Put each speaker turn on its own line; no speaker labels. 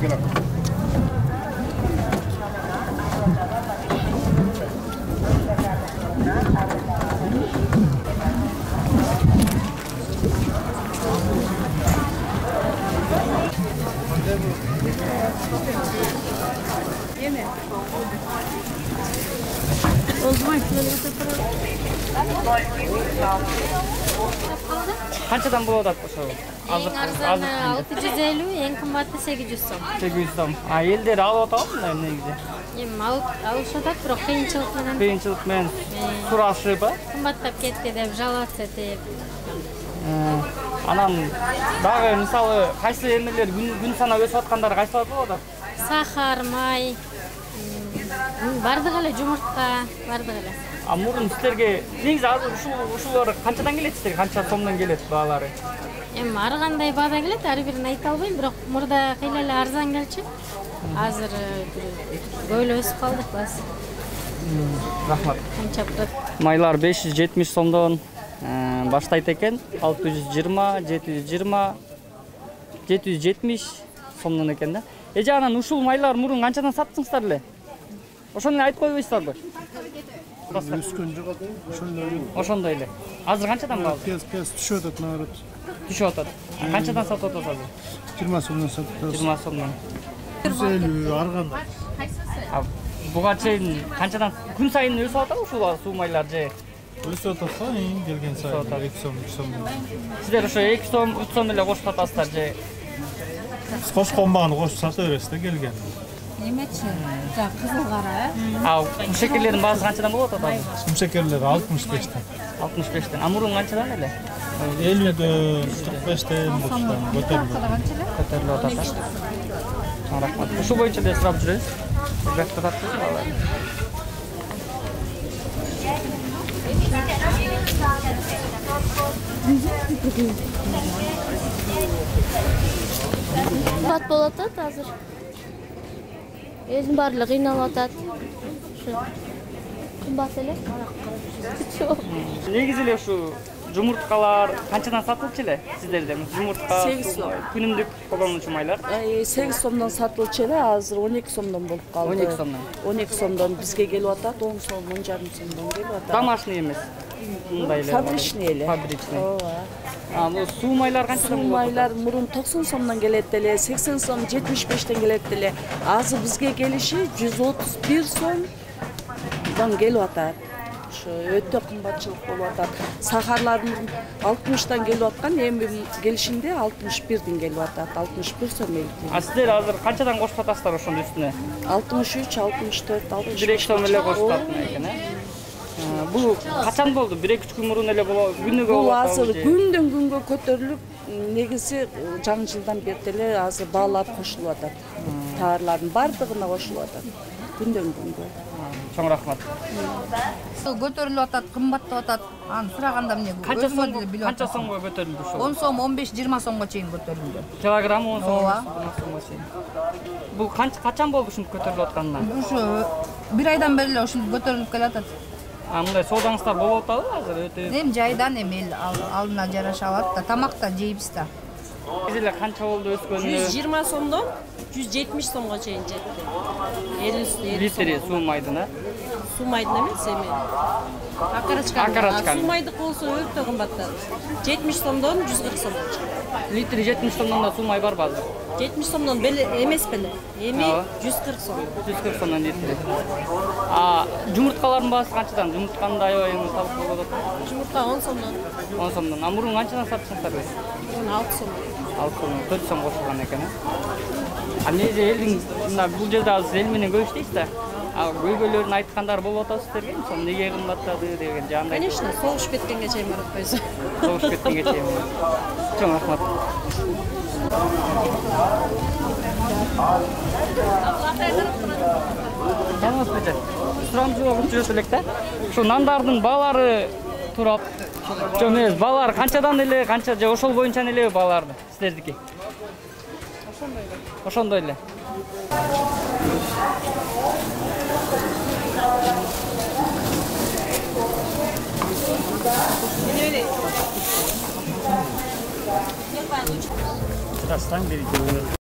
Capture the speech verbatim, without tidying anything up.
Yeme. O zaman şöyle yapalım.
Канчадан болот атат ошо?
Эң арзаны алты жүз элүү, эң кымбаты сегиз жүз сом.
сегиз жүз сом. А элдер алып атабы негизи?
Эми алып алышат, бирок кыйынчылык менен.
Кыйынчылык менен сурашып,
кымбаттап кетти деп жалаат этип.
Анан дагы мисалы кайсы эмелер күн санап өсүп аткандары кайсылар болот?
Сахар, май, бардыгы эле жумуртка, бардыгы эле.
А мурун силерге негизи азыр ушул ушулар канчадан келет силерге? Канча сомдон келет баалары?
Эми ар кандай баада келет, ар бирин айта албайм, бирок мурда кыйла эле арзан келчү. Азыр көп эле өсүп калдык баз.
Рахмат.
Канча турат?
Майлар беш жүз жетимиш сомдон баштайт экен. алты жүз жыйырма, жети жүз жыйырма, жети жүз жетимиш сомдон экен да. Эже анан ушул майлар мурун канчадан саттыңыздар эле? Ошону айтып койбойсуздарбы?
Өскөн жок атат, ошондой.
Ошондой эле. Азыр канчадан калды?
Кез-кез түшүп атат наоборот.
Түшүп атат. Канчадан сатып атасыз азыр?
жыйырма сомдон сатып атабыз.
жыйырма сомдон.
жүз элүү ар кандай.
А буга чейин канчадан күн сайын өсүп атабы ушул суу майлар же?
Өсүп атат да, келген сайын эки сом, үч сом.
Сиздер ошо эки сом, үч сом эле кошуп атасыздар же?
Биз кошкон баганы кошуп сата беребиз да келген.
Немечи? Жа кызыл кара, э?
А шекерлердин баасы канчадан болот атат?
Кум шекерлер алтымыш бештен.
алтымыш бештен. А мурун канчадан эле?
элүүдөн, кырк бештен баштан көтөрүлүп.
Көтөрүлүп атат. Рахмат. Ушул боюнча эле сурап жүрөбүз. Бекте тартып алалы.
Кымбат болуп атат азыр. Элдин баары кыйналып атат. Ушу кымбат эле.
Негизи эле ушу жумурткалар канчадан сатылчу эле сиздерде? Жумуртка
сегиз сом.
Күнүмдүк колдонуучу майлар?
сегиз сомдон сатылчу эле, азыр он эки сомдон болуп калды.
он эки сомдон.
он эки сомдон бизге келип атат, он сом, он жарым сомдон келип атат.
Домашний эмес. Мындай эле.
Фабричный эле.
Фабричный.
Ооба.
А бул суу майлар канчадан болот?
Суу майлар мурун токсон сомдон келет эле, сексен сом, жетимиш бештен келет эле. Азыр бизге келиши жүз отуз бир сомдон келип атат. Ошо өтө кымбатчылык болуп атат. Сахарлардын алтымыштан келип аткан, эми келишинде алтымыш бирден келип атат. алтымыш бир сом элди.
А сиздер азыр канчадан кошуп атасыздар ошонун үстүнө?
алтымыш үч, алтымыш төрт, алтымыш беш.
бир эки сом эле кошуп атат экен, э? Бул качан болду? бир эки үч күн мурун эле боло, күнүгө болот.
Бул азыр күндөн күнгө көтөрүлүп, негизи жаңы жылдан бери эле азыр баалар кошулуп атат. Товарлардын бардыгына кошулуп атат. Күндөн күнгө.
Чоң рахмат.
Көтөрүлүп атат, кымбаттап атат. Аны сураганда эмне?
Канча сом, канча сомго көтөрүлдү ошол?
он сом, он беш, жыйырма сомго чейин көтөрүлдү.
Килограмм он сом,
Ооба.
жыйырма сомго чейин. Бул канча качан болду ушинтип көтөрүлүп атканына?
Ушу бир айдан бери эле ушинтип көтөрүлүп келатат.
А мындай соодаңыздар болуп атабы азыр өтө?
Эми жайдан эми эл алдына жараша алат да, тамак да жейбиз да.
Эле канча болду өскөнү?
жүз жыйырма сомдон жүз жетимиш сомго чейин жетти. элүү
Литри суу майдын, э?
Суу майдын эмес эми. Акарачка.
Акарачка.
Суу майдык болсо өтө кымбаттады. жетимиш сомдон жүз кырк сомго чыкты.
Литри жетимиш сомдон да суу май барбы азыр?
жетимиш сомдон беле эмес беле. Эми жүз кырк сом.
жүз кырк сомдон литри. А жумурткалардын баасы канчадан? Жумуртканы да аябай эми табып болот атат.
Жумуртка он сомдон.
он сомдон. А мурун канчадан сатчыңыздар?
Мурун алты сом.
алты сом, төрт сом кошулган экен, э? А негизи элдин мына бул жерде азыр эл менен көрүштүйсүз да. А көйгөйлөрүн айткандар болуп атабы сиздерге? Мисалы эмнеге кымбаттады деген жандай.
Конечно, согуш биткенге чейин барып койсо.
Согуш биткенге чейин. Чоң рахмат. Жамас беже. Сурам жооп жүрөт элек да. Ушу нандардын баалары турап. Жок эмес, баалар канчадан эле, канча же ошол боюнча эле бааларды сиздердики? Ошондой эле. Ошондой эле. Расстань, берите.